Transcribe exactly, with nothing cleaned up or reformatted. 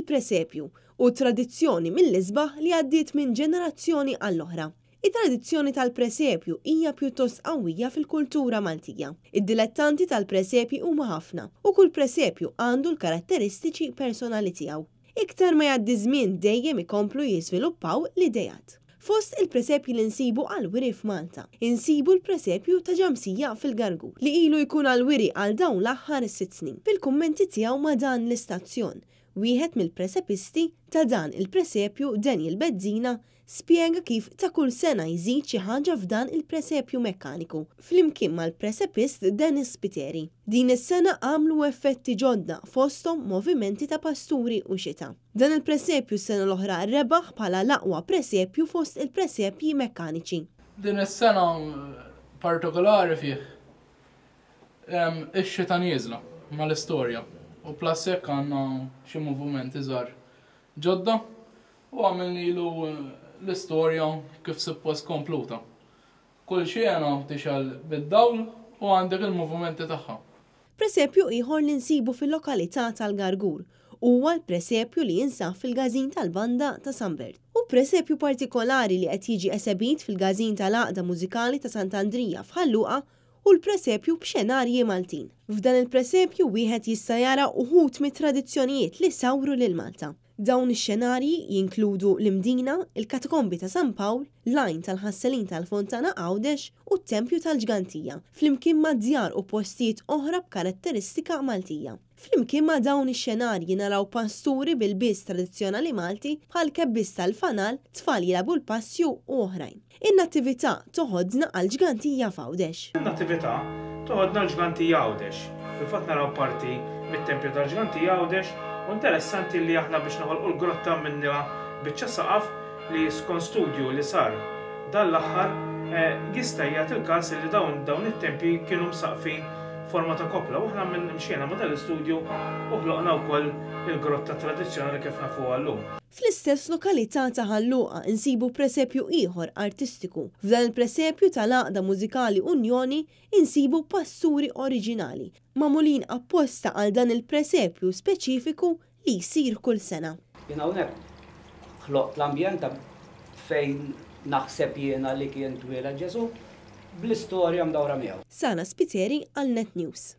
Il-presepju hu tradizzjoni mill-isbaħ li għaddiet minn ġenerazzjoni għall-oħra. It-tradizzjoni tal-presepju hija pjuttost qawwija fil-kultura Maltija. Id-dilettanti tal-presepji huma ħafna u kull presepju għandu l-karatteristiċi personali tiegħu. Iktar ma jgħaddi żmien dejjem ikomplu jiżviluppaw l-ideat. Fost il-presepji li nsibu għal-wiri f'Malta, insibu l-presepju ta' Ġamsija fil-Gargur li ilu jkun għal-wiri għal dawn l-aħħar sitt snin. Fil-kummenti tiegħu ma' dan l-istazzjon, wieħed mill-presepisti ta' dan il-presepju, Daniel Bezzina, spjega kif ta' kull sena jżid xi ħaġa f'dan il-presepju mekkaniku flimkien mal-presepist Dennis Spiteri. Din is-sena għamlu effetti ġodda, fosthom movimenti ta' pasturi u xita. Dan il-presepju s-sena l-oħra rebaħ bħala l-aqwa presepju fost il-presepji mekkaniċi. Din is-sena partikolari fih ix-xita nieżla mal-istorja u plus hekk għandna xi movimenti żgħar ġodda u għamilnilu l-istorja kif suppost kompluta. Kull xena tixgħel bid-dawl u għandek il-movimenti tagħha. Presepju ieħor li nsibu fil-lokalità tal-Gargur huwa l-presepju li jinsab fil-Każin tal-Banda ta' San Bert. U presepju partikolari li qed jiġi esebit fil-Każin tal-Għaqda Mużikali ta' Sant'Andrija f'Ħal Luqa hu l-presepju b'xenarji Maltin. F'dan il-presepju wieħed jista' jara uħud mit-tradizzjonijiet li sawru lil Malta. Dawn ix-xenarji jinkludu l-Imdina, il-Katakombi ta' San Pawl, l-Għajn tal-Ħasselin tal-Fontana Għawdex u t-Tempju tal-Ġgantija, flimkien ma' djar u postijiet oħra b'karatteristika Maltija. Flimkien ma' dawn ix-xenarji naraw pasturi bil-lbies tradizzjonali Malti bħal kebbis tal-fanal, tfal jilagħbu l-passju u oħrajn. In-nattività toħodna għal Ġgantija f'Għawdex. In-nattività toħodna l-Ġgantija Għawdex. Fil-fatt naraw parti mit-Tempju tal-Ġgantija Għawdex. U interessanti li aħna biex noħolqu l-grotta minnha biċċa saqaf li skont studju li sar dan l-aħħar jista' jagħti il-każ li dawn dawn it-tempji kienu msaqfin forma ta' kopla u aħna minn mxiena ma' dal-istudju u ħloqna wkoll il-grotta tradizzjonali kif nafuha llum. Fl-istess lokalità ta' Ħal Luqa insibu presepju ieħor artistiku. F'dan il-presepju tal-Għaqda Mużikali Unjoni insibu pasturi oriġinali, magħmulin apposta għal dan il-presepju speċifiku li jsir kull sena. Jien hawnhekk ħloqt l-ambjent ta' fejn naħseb jiena li kien twieled Ġesu bl-istorja mdawra miegħu. Sana Spiteri għal Net News.